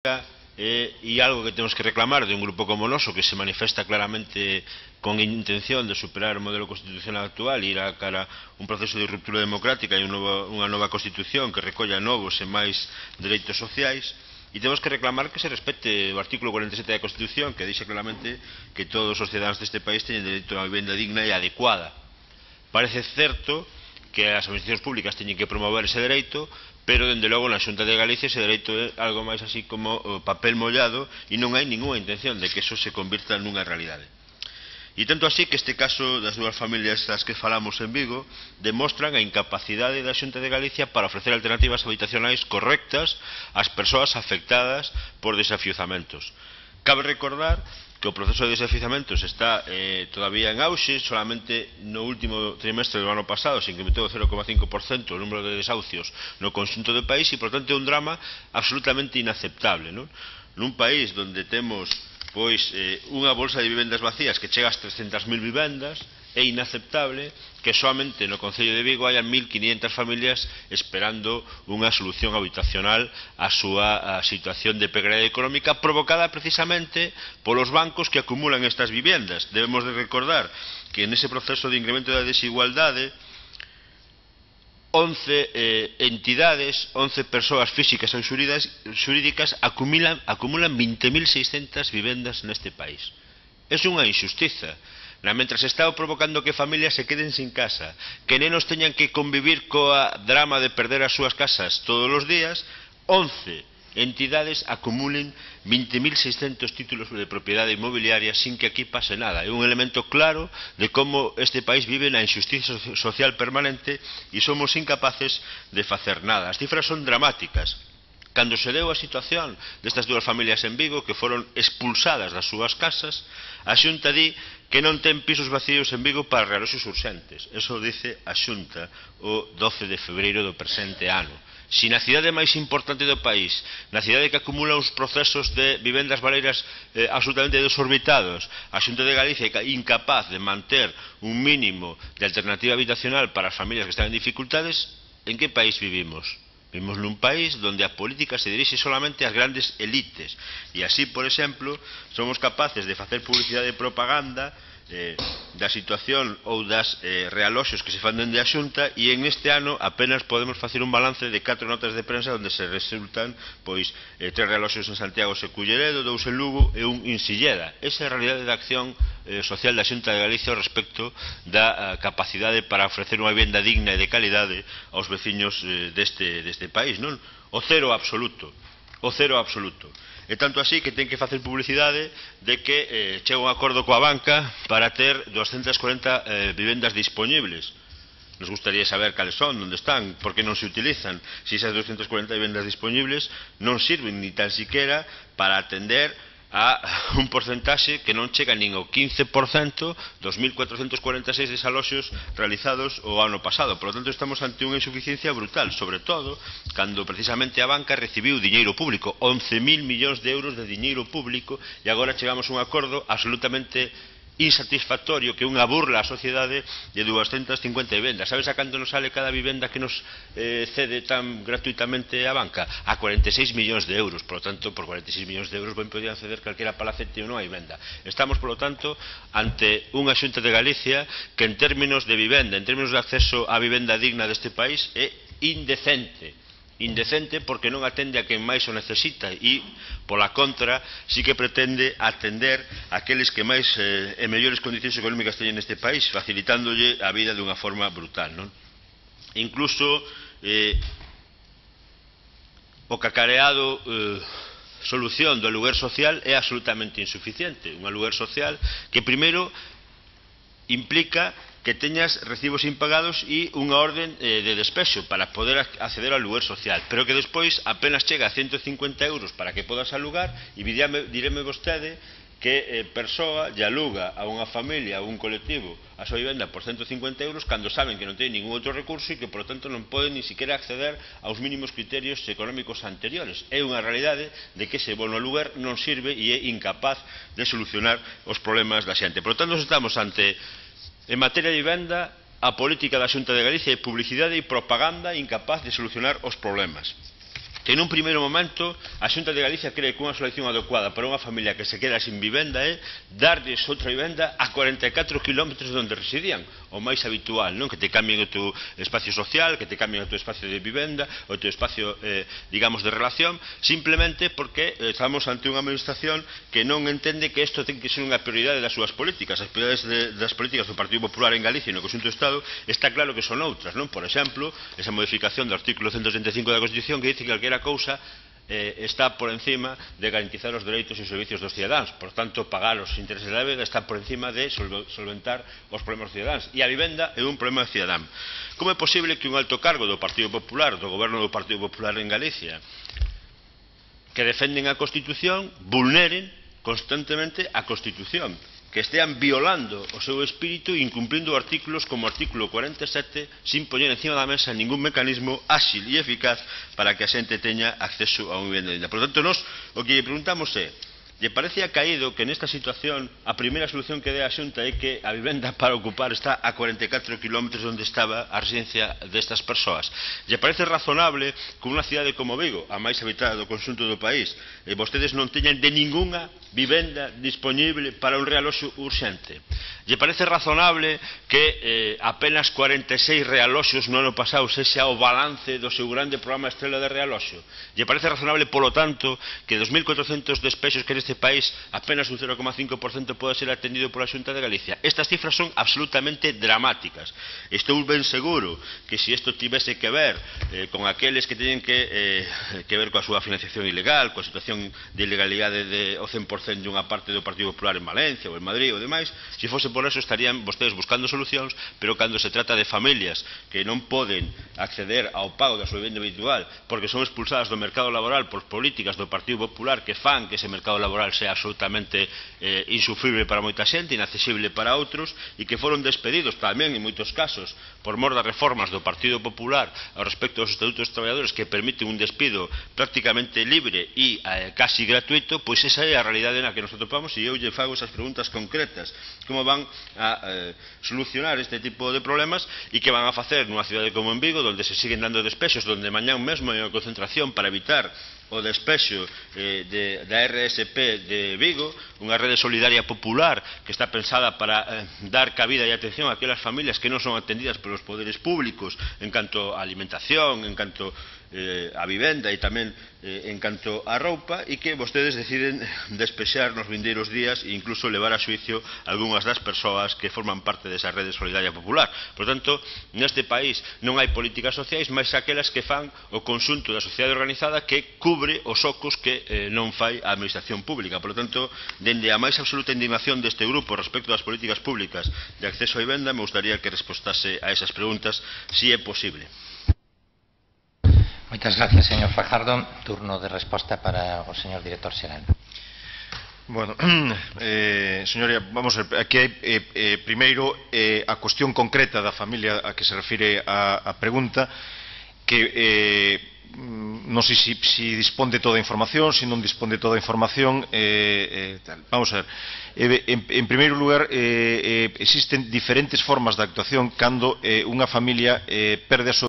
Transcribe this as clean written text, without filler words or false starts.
e algo que temos que reclamar de un grupo como o noso, que se manifesta claramente con intención de superar o modelo constitucional actual e ir a cara un proceso de ruptura democrática e unha nova constitución que recolla novos e máis dereitos sociais, e temos que reclamar que se respete o artículo 47 da Constitución, que dixe claramente que todos os cidadáns deste país teñen dereito a unha vivenda digna e adecuada. Parece certo que as administracións públicas teñen que promover ese dereito, pero, dende logo, na Xunta de Galicia ese dereito é algo máis así como papel mollado e non hai ningunha intención de que eso se convirta nunha realidade. E tanto así que este caso das dúas familias das que falamos en Vigo demostran a incapacidade da Xunta de Galicia para ofrecer alternativas habitacionais correctas ás persoas afectadas por desafiuzamentos. Cabe recordar que o proceso de desafiuzamentos está todavía en auxe. Solamente no último trimestre do ano pasado se incrementou o 0,5% o número de desahucios no conxunto do país e, por tanto, é un drama absolutamente inaceptable, non? Nun país onde temos unha bolsa de vivendas vacías que chega ás 300.000 vivendas, é inaceptable que soamente no Concello de Vigo haya 1.500 familias esperando unha solución habitacional á súa situación de precariedade económica provocada precisamente polos bancos que acumulan estas vivendas. Debemos de recordar que nese proceso de incremento da desigualdade 11 entidades, 11 persoas físicas ou xurídicas acumulan 20.600 vivendas neste país. É unha injustiza. Mentres está provocando que familias se queden sin casa, que nenos teñan que convivir coa drama de perder as súas casas todos os días, 11 entidades acumulen 20.600 títulos de propiedade inmobiliaria sin que aquí pase nada. É un elemento claro de como este país vive na injustiza social permanente e somos incapaces de facer nada. As cifras son dramáticas. Cando se deu a situación destas dúas familias en Vigo que foron expulsadas das súas casas, a Xunta di que non ten pisos vacíos en Vigo para realoxos urxentes. Eso dice a Xunta o 12 de febreiro do presente ano. Si na cidade máis importante do país, na cidade que acumula uns procesos de vivendas baleiras absolutamente desorbitados, a Xunta de Galicia é incapaz de manter un mínimo de alternativa habitacional para as familias que están en dificultades, en que país vivimos? Vivimos nun país onde a política se dirixe solamente ás grandes elites e así, por exemplo, somos capaces de facer publicidade e propaganda da situación ou das realoxos que se fan dende a Xunta e en este ano apenas podemos facer un balance de 4 notas de prensa onde se resultan 3 realoxos en Santiago e Culleredo, 2 en Lugo e un en Silleda. Esa é a realidade da acción social da Xunta de Galicia respecto da capacidade para ofrecer unha vivenda digna e de calidade aos veciños deste país, non? O cero absoluto. O cero absoluto. E tanto así que ten que facer publicidade de que chega un acordo coa banca para ter 240 vivendas disponibles. Nos gustaría saber cales son, onde están, por que non se utilizan. Se esas 240 vivendas disponibles non sirven ni tan siquiera para atender a un porcentaxe que non chega nin ao 15% dos 1.446 desaloxos realizados o ano pasado. Por lo tanto, estamos ante unha insuficiencia brutal, sobre todo cando precisamente a banca recibiu diñeiro público, 11.000 millóns de euros de diñeiro público, e agora chegamos a un acordo absolutamente insatisfactorio, que é unha burla á sociedade de 250 vivendas. Sabes a canto nos sale cada vivenda que nos cede tan gratuitamente a banca? A 46 millóns de euros. Por lo tanto, por 46 millóns de euros ben podían ceder calquera palacete ou non a vivenda. Estamos, por lo tanto, ante unha Xunta de Galicia que en términos de vivenda, en términos de acceso á vivenda digna deste país, é indecente. Indecente porque non atende a quen máis o necesita e, pola contra, sí que pretende atender aqueles que máis e mellores condicións económicas teñen neste país, facilitándolle a vida dunha forma brutal, non? Incluso o cacareado solución do aluguer social é absolutamente insuficiente. Un aluguer social que, primeiro, implica que teñas recibos impagados e unha orden de despexo para poder acceder ao aluguer social, pero que despois apenas chega a 150 euros para que podas alugar e direme vostede que persoa lle aluga a unha familia, a un colectivo, a súa vivenda por 150 euros cando saben que non ten ningún outro recurso e que, por tanto, non poden ni siquiera acceder aos mínimos criterios económicos anteriores. É unha realidade de que ese bono aluguer non sirve e é incapaz de solucionar os problemas da xente. Por tanto, estamos ante, en materia de vivenda, a política da Xunta de Galicia é publicidade e propaganda incapaz de solucionar os problemas. que nun primeiro momento a Xunta de Galicia cree que unha solución adecuada para unha familia que se queda sin vivenda é darlles outra vivenda a 44 km onde residían, o máis habitual, non? Que te cambien o teu espacio social, que te cambien o teu espacio de vivenda, o teu espacio, digamos, de relación, simplemente porque estamos ante unha administración que non entende que isto ten que ser unha prioridade das súas políticas. As prioridades das políticas do Partido Popular en Galicia e no conxunto do Estado está claro que son outras, non? Por exemplo, esa modificación do artículo 135 da Constitución que dice que calquera cousa está por encima de garantizar os dereitos e servicios dos cidadáns, por tanto pagar os intereses da débeda está por encima de solventar os problemas dos cidadáns, e a vivenda é un problema cidadán. Como é posible que un alto cargo do Partido Popular, do goberno do Partido Popular en Galicia, que defenden a Constitución, vulneren constantemente a Constitución, que estean violando o seu espírito e incumplindo artículos como o artículo 47 sin poñer encima da mesa ningún mecanismo áxil e eficaz para que a xente teña acceso a unha vivenda digna. Por tanto, nós o que lle preguntamos é: lle parece acaído que nesta situación a primeira solución que dé a Xunta é que a vivenda para ocupar está a 44 km onde estaba a residencia destas persoas? Lle parece razonable que unha cidade como Vigo, a máis habitada do conxunto do país, vostedes non teñan de ningunha vivenda disponible para un realoxo urxente? Lle parece razonable que apenas 46 realoxos no ano pasado sexa o balance do seu grande programa Estrela de Realoxo? Lle parece razonable, polo tanto, que 2.400 despexos que neste país apenas un 0,5% pode ser atendido pola Xunta de Galicia? Estas cifras son absolutamente dramáticas. Estou ben seguro que se isto tivese que ver con aqueles que teñen que ver coa súa financiación ilegal, coa situación de ilegalidade ao 100% de unha parte do Partido Popular en Valencia ou en Madrid ou demais, se fose por eso estarían vostedes buscando solucións, pero cando se trata de familias que non poden acceder ao pago da súa vivenda habitual porque son expulsadas do mercado laboral por políticas do Partido Popular que fan que ese mercado laboral sea absolutamente insufrible para moita xente, inaccesible para outros, e que foron despedidos tamén en moitos casos por mor das reformas do Partido Popular ao respecto dos estatutos dos traballadores que permiten un despido prácticamente libre e casi gratuito, pois esa é a realidade na que nos atopamos, e eu lle fago esas preguntas concretas: como van a solucionar este tipo de problemas e que van a facer nunha cidade como en Vigo, onde se siguen dando despexos, donde mañán mesmo hai unha concentración para evitar o despexo da RSP de Vigo, unha rede solidaria popular que está pensada para dar cabida e atención a aquelas familias que non son atendidas polos poderes públicos en canto a alimentación, en canto a vivenda e tamén en canto a roupa, e que vostedes deciden despexar nos vindeiros días e incluso levar a xuicio algunhas das persoas que forman parte desa rede solidaria popular. Por tanto, neste país non hai políticas sociais máis aquelas que fan o conxunto da sociedade organizada que cubre os ocos que non fai a administración pública. Por tanto, dende a máis absoluta indignación deste grupo respecto das políticas públicas de acceso a vivenda, me gustaría que respostase a esas preguntas, si é posible. Moitas gracias, señor Fajardo. Turno de resposta para o señor director xeral. Bueno, señoría, vamos a ver, aquí hai primeiro a cuestión concreta da familia a que se refire a pregunta, que non sei se dispón de toda a información, se non dispón de toda a información, vamos a ver. En primeiro lugar, existen diferentes formas de actuación cando unha familia perde a súa